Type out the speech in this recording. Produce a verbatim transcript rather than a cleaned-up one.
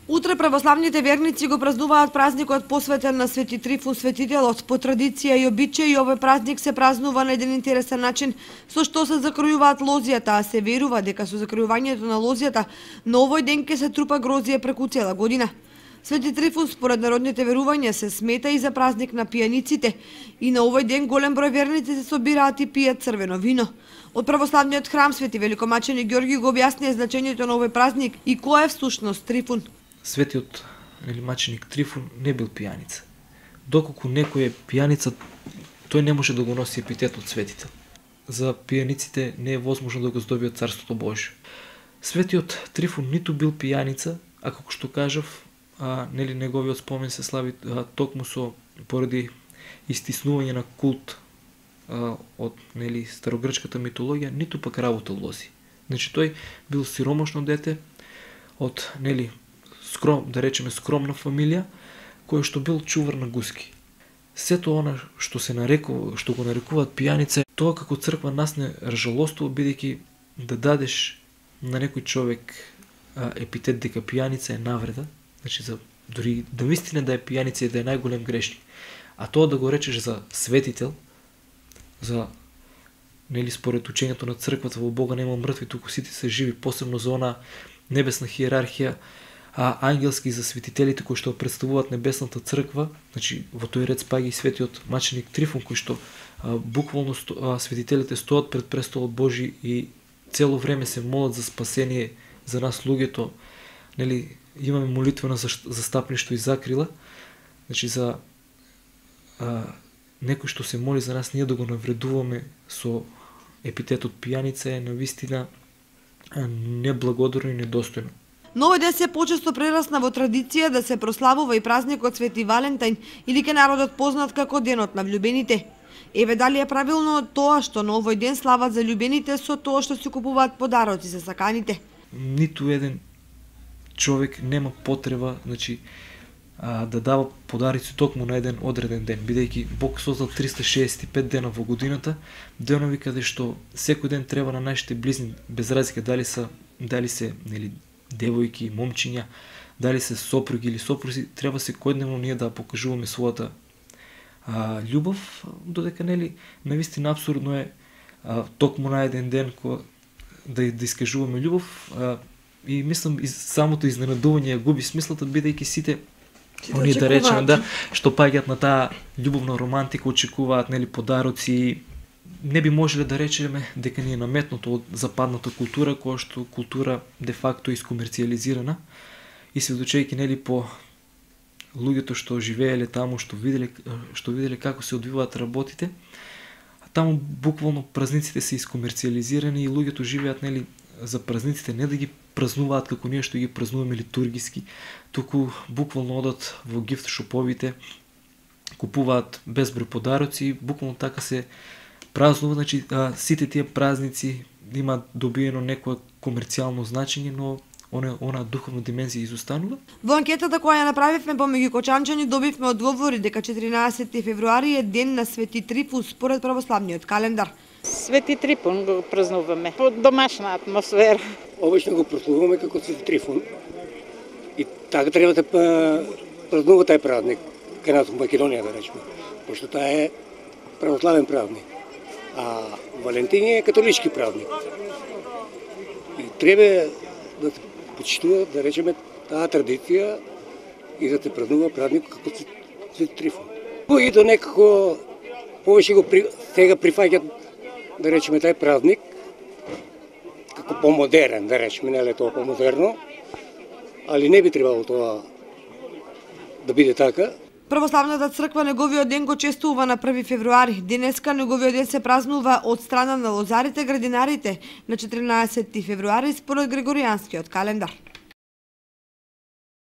Утре православните верници го празнуваат празникот посветен на Свети Трифун Светителот. По традиција и обичај овој празник се празнува на еден интересен начин, со што се закројуваат лозијата, а се верува дека со закројувањето на лозијата на овој ден ќе се трупа грозие преку цела година. Свети Трифун според народните верувања се смета и за празник на пијаниците и на овој ден голем број верници се собираат и пијат црвено вино. Од православниот храм Свети Великомаченик Ѓорги го објаснија значењето на овој празник и кој е всушност Трифун. Светиот или маченик Трифун не бил пијаница. Доколку некој е пијаница, тој не може да го носи епитетот светител. За пијаниците не е возможно да го здобиат Царството Божие. Светиот Трифун ниту бил пијаница, а како што кажав, а, нели неговиот спомен се слави а, токму со поради истиснување на култ а, од нели старогрчката митологија, ниту пак работа лози. Значи тој бил сиромашно дете од нели скром, да речеме скромна фамилија, кој што бил чувар на гуски. Сето она што се нарекува, што го нарекуваат пијаница, тоа како црква нас не ржалоствува, бидејќи да дадеш на некој човек а, епитет дека пијаница е навреда, значи за дури да вистина да е пијаница и да е најголем грешник. А тоа да го речеш за светител, за нели според учењето на црквата во Бога нема мртви, туку сите се живи, посебно за она небесна хиерархија, а ангелски за светителите кои што представуваат небесната црква, значи во тој ред спаѓа и светиот маченик Трифун кој што а, буквално сто, а, светителите стоат пред престолот Божи и цело време се молат за спасение за нас луѓето, нели имаме молитвено застапништво и закрила, значи за а, некој што се моли за нас, ние да го навредуваме со епитетот пијаница е навистина неблагодарно и недостојно. Но овој ден се почесто прерасна во традиција да се прославува и празникот Свети Валентин или ке народот познат како денот на влюбените. Еве дали е правилно тоа што на овој ден слават за љубените со тоа што се купуваат подароци за саканите? Ниту еден човек нема потреба, значи, а, да дава подарици токму на еден одреден ден, бидејќи Бог создал триста шеесет и пет дена во годината, денови каде што секој ден треба на нашите близни, без разлика дали се дали се нели девојки, момчиња, дали се сопруги или сопрузи, треба секојдневно ние да покажуваме својата а, љубов, додека нели навистина апсурдно е а, токму на еден ден ко, да, да искажуваме љубов а, и мислам и самото изненадување губи смислата, бидејќи сите они да речеме да што паѓаат на таа љубовна романтика, очекуваат нели подароци, не би можеле да речеме дека ни е наметнато од западната култура, која што култура де факто искомерцијализирана и сведочејќи нели по луѓето што живееле таму, што виделе што виделе како се одвиваат работите, таму буквално празниците се искомерцијализирани и луѓето живеат нели за празниците не да ги празнуваат како ние што ги празнуваме литургиски, туку буквално одат во гифт шоповите, купуваат безброј подароци, буквално така се празнува, значи а, сите тие празници има добиено некое комерцијално значење, но она она духовна димензија изостанува. Во анкетата која ја направивме помеѓу кочанчани добивме одговори дека четиринаесети февруари е ден на Свети Трифун според православниот календар. Свети Трифун го празнуваме по домашна атмосфера. Обично го празнуваме како Свети Трифун. И така треба да празнува тај празник кај нас во Македонија, да речеме, пошто таа е православен празник. А Валентин е католички празник. И треба да се почитува, да речеме, таа традиција и да се празнува празник како Свети Трифун. И до некако повеќе го при... сега прифаќат, да речеме, тај празник како помодерен, да речеме, не е тоа помодерно, али не би требало тоа да биде така. Православната црква неговиот ден го честува на први февруари. Денеска неговиот ден се празнува од страна на лозарите, градинарите на четиринаесети февруари според Григоријанскиот календар.